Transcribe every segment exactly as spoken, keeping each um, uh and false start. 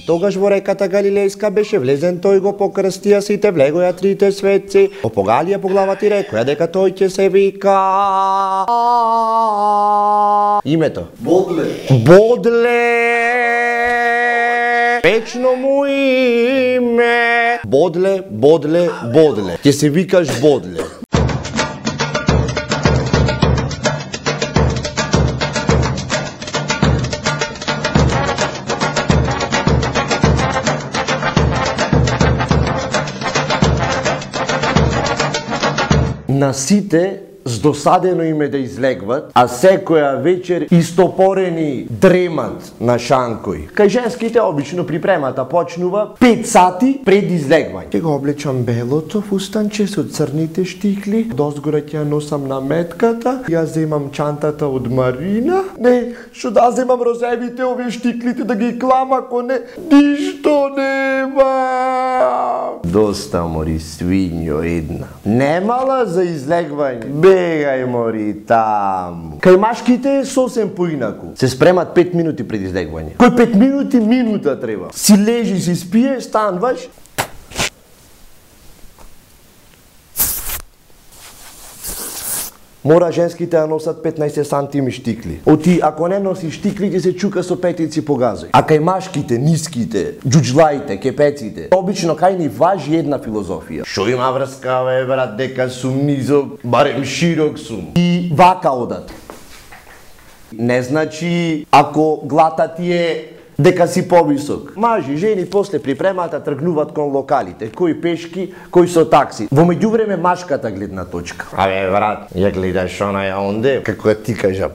И тогаш во реката Галилејска беше влезен тој, го покрстија сите, влегоја трите светци, го погалија по главата и рекоја дека тој ќе се вика името Бодле. Бодле. Вечно му име. Бодле, Бодле, Бодле. Ќе се викаш Бодле. На сите здосадено име да излегват, а секоја вечер истопорени дремат на шанкој. Кај женските обично припремата почнува пет сати пред излегвање. Ќе го облечам белото фустанче со црните штикли, дозгора ќе ја носам на метката, ја земам чантата од Марина. Не, што да земам розевите овие штиклите да ги клам, ако не, ништо нема. Доста мори свињо една. Немала за излегвање. Бегај мори таму. Кај машките е сосем поинаку. Се спремат пет минути пред излегвање. Кој пет минути, минута треба. Си лежи, си спиеш, станваш. Мора женските да носат петнаесет сантими штикли. Оти, ако не носи штикли, ќе се чука со петици по газој. А кај машките, ниските, џуџлаите, кепеците, обично кај ни важи една филозофија. Шо има врска, бе, брат, дека сум низок, барем широк сум. И вака одат. Не значи, ако глата ти е дека си повисок. Мажи, жени после припремата тргнуваат кон локалите, кој пешки, кој со такси. Во меѓувреме машката гледна точка. Абе брат, ја гледаш онаја онде, како ти кажа,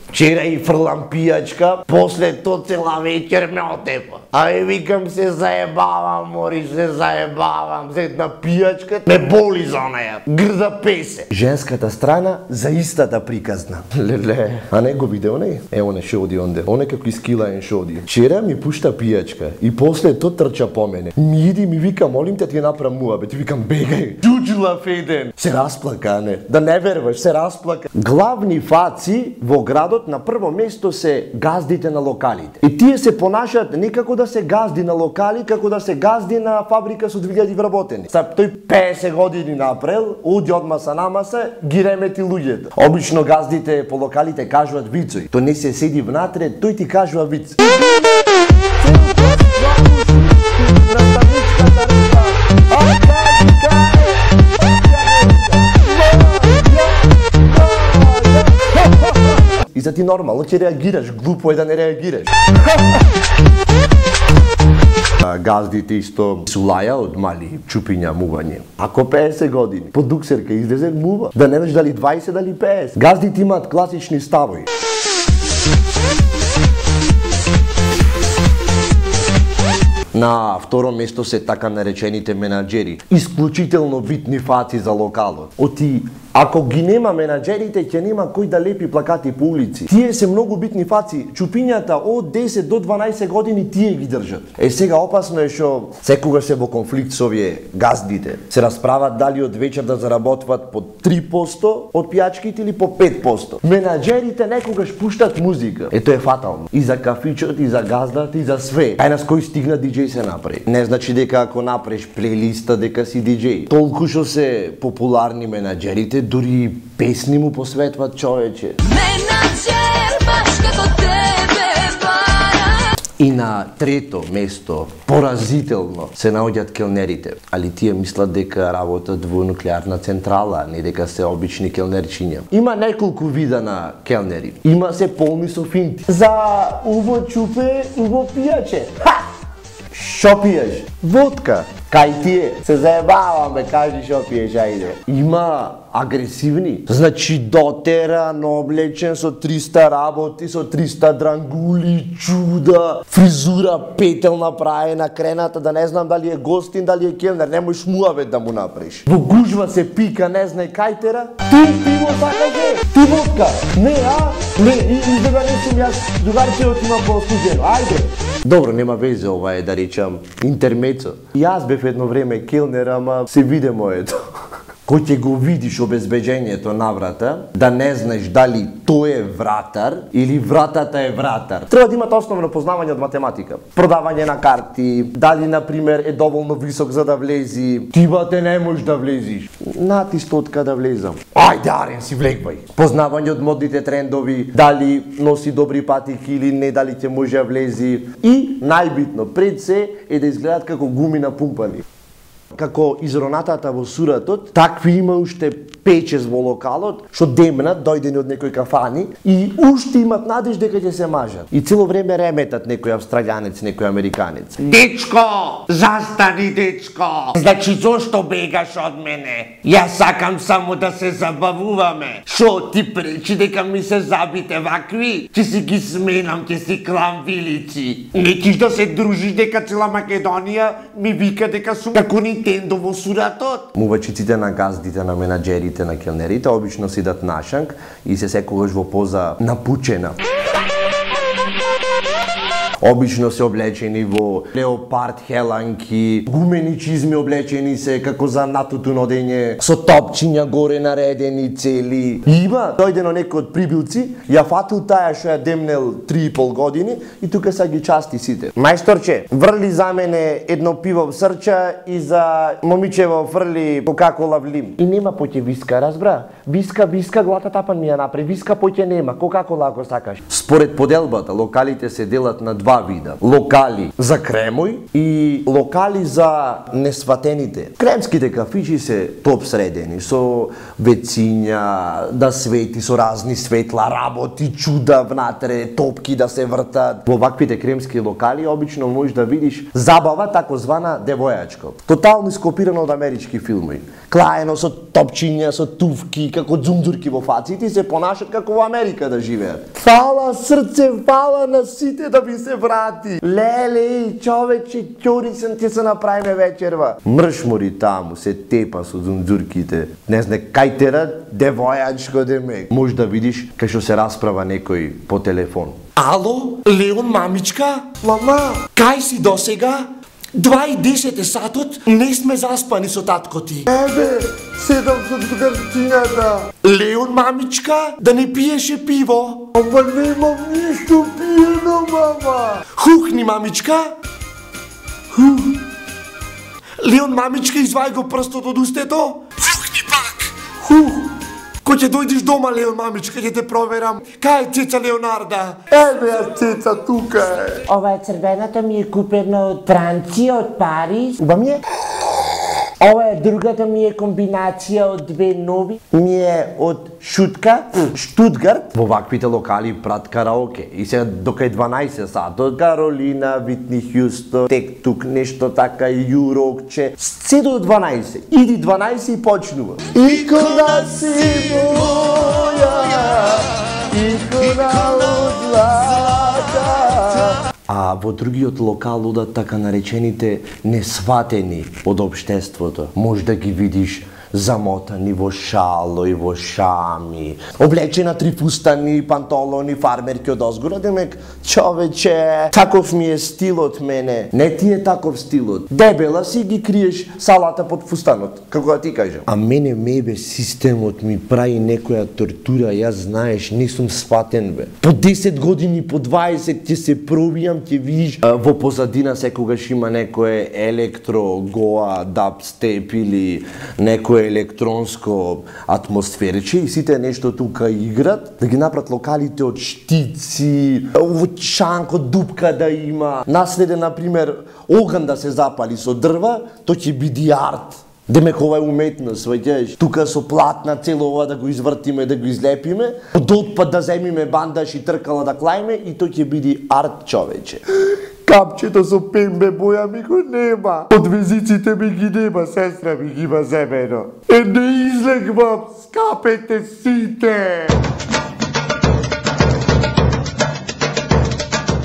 вчера и фрлам пијачка, после то цела вечер ме отепа. Абе викам се заебавам, мори, се заебавам, седна пијачка, ме боли за онаја, грда песе. Женската страна за истата приказна. Леле, а не го виде оне? Е, оне шо оди онде, оне како искилаен шо оди. Вчера ми пушта пијачка и после то трча по мене. Ми иди ми вика, молим те ти направам муабет, викам бегај. Џуџла феден. Се расплака, не? Да не верваш, се расплака. Главни фаци во градот на прво место се газдите на локалите. И тие се понашаат не како да се газди на локали, како да се газди на фабрика со две илјади вработени. Са тој песет години напрел, оди одма са намаса, ги ремети луѓето. Обично газдите по локалите кажуваат вицои. Тој не се седи внатре, тој ти кажува виц. И за ти нормално ќе реагираш, глупо е да не реагираш. Газдите исто сулаја од мали чупиња мување. Ако песет години, по дуксерка излезе мува. Да не знаеш дали дваесет, дали песет. Газдите имаат класични ставови. На второ место се така наречените менаџери, исклучително битни фаци за локалот. Оти, ако ги нема менаџерите, ќе нема кој да лепи плакати по улици. Тие се многу битни фаци, чупињата од десет до дванаесет години тие ги држат. Е сега опасно е што секогаш се во конфликт со овие газдите. Се расправат дали од вечер да заработват по три посто од пијачките или по пет посто. Менаџерите некогаш пуштат музика. Ето е фатално. И за кафичот, и за газдат, и за све. Ај нас кој стигна диџеј се направи. Не значи дека ако направиш плейлиста дека си диџеј. Толку што се популарни менаџерите, дури песни му посветват човече. Менаџер баш како тебе бара. И на трето место, поразително, се наоѓаат келнерите. Али тие мислат дека работат во нуклеарна централа, не дека се обични келнерчиња. Има неколку вида на келнери. Има се полни со финти. За уво чупе, уво пијаче. Ха! Шо пиеш? Водка. Кај тие? Се заебавам, бе, кажи шо пиеш, ајде. Има агресивни. Значи дотеран, облечен со триста работи, со триста дрангули, чуда, фризура, петел направена, крената, да не знам дали е гостин, дали е келнер, не можеш муавет да му направиш. Во гужва се пика, не знае кај тера. Ти пиво сакаш, ти водка. Не, а? Не, и да не сум јас, другарче отимам по студено, ајде. Добро, нема везе, ова е да речам интермецо. Јас бев едно време келнер, ама се виде моето. кој ќе го видиш обезбеđењето на врата, да не знаеш дали тој е вратар или вратата е вратар. Треба да имате основно познавање од математика. Продавање на карти, дали на пример е доволно висок за да влези, ти бате не можеш да влезиш. Нати стотка да влезам. Ајде Арен си влегвај. Познавање од модните трендови, дали носи добри патики или не, дали ќе може да влези. И најбитно пред се е да изгледат како гуми напумпани. Како изронатата во суратот, такви има уште пет-шест во локалот, што демнат, дојдени од некој кафани и уште имат надеж дека ќе се мажат. И цело време реметат некој австралијанец, некој американец. Дечко, застани дечко. Значи зошто бегаш од мене? Јас сакам само да се забавуваме. Шо ти пречи дека ми се забите вакви? Ќе си ги сменам, ќе си клам вилици. Не киш да се дружиш дека цела Македонија ми вика дека сум како Нинтендо во суратот. Мувачиците на газдите, на менаџерите, на келнерите обично сидат нашанк и се секогаш во поза напучена. Обично се облечени во леопард хеланки, гумени чизми облечени се како за натутуно дење, со топчиња горе наредени цели. И има дојдено некој од прибилци, ја фатил таа што ја демнел три и пол години и тука са ги части сите. Мајсторче, врли за мене едно пиво в срча и за момичево фрли Кока-кола в лим. И нема поќе виска, разбра? Виска, виска, глата тапан ми ја напре, виска поќе нема, Кока-кола ако сакаш. Според поделбата, локалите се делат на два вида. Локали за кремој и локали за несватените. Кремските кафичи се топ средени, со вециња, да свети, со разни светла, работи, чуда внатре, топки да се вртат. Во ваквите кремски локали обично можеш да видиш забава такозвана девојачко. Тотално скопирано од амерички филми. Клаено со топчиња, со туфки, како дзумдурки во фаците и се понашат како во Америка да живеат. Фала срце, фала на сите да ви се врати. Леле, човече, ќорисен ти се направиме вечерва. Мршмори таму се тепа со дзумдурките. Не знае кај тера девојачко демек. Може да видиш кај што се расправа некој по телефон. Ало, Леон мамичка? Мама, Кај си досега? Два и десет е сатот, не сме заспани со татко ти. ебе, седам со другарчињата. Леон мамичка, да не пиеше пиво. Ама немам ништо пиено, мама. Хухни мамичка. Хух. Леон мамичка, извај го прстот од устето. Фухни пак. Хух. Кој ќе дојдеш дома, Леон мамичка, ќе те проверам. Кај е цеца Леонарда? Ебе, ја цеца тука е. Ова е црвената ми е купена од Франција, од Париз. Уба ми е? Ова е другата ми е комбинација од две нови. Ми е од Шутка, Штутгарт. Во ваквите локали прат караоке. И се докај дванаесет сатот, Каролина, Витни Хјустон, тек тук нешто така, Јурокче. Се до дванаесет. Иди дванаесет и почнува. Икона си моја, икона од злата. А во другиот локал одат така наречените несватени од општеството. Може да ги видиш замотани во шало и во шами, облечена три фустани, пантолони, фармерки од озгора, демек, човече, таков ми е стилот мене. Не ти е таков стилот. Дебела си ги криеш салата под фустанот, како да ти кажам. А мене мебе системот ми прави некоја тортура, јас знаеш, не сум сватен бе. По десет години, по дваесет ќе се пробијам, ќе видиш а, во позадина секогаш има некое електро, гоа, дабстеп или некое електронско атмосферче и сите нешто тука играт, да ги направат локалите од штици, во шанко дупка да има, наследе на пример оган да се запали со дрва, то ќе биде арт. Демек ова е уметност, сваќаш. Тука со платна цело ова да го извртиме, да го излепиме, од отпад да земиме бандаш и тркала да клајме и то ќе биде арт, човече. Капчето со пембе боја ми го нема. Од везиците ми ги нема, сестра ми ги има земено. Е, не излегвам, скапете сите!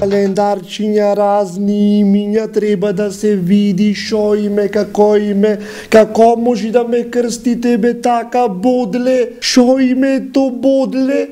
Календарчиња, разни имиња, треба да се види шо име, како име, како може да ме крстите бе така, Бодле, шо име е то Бодле?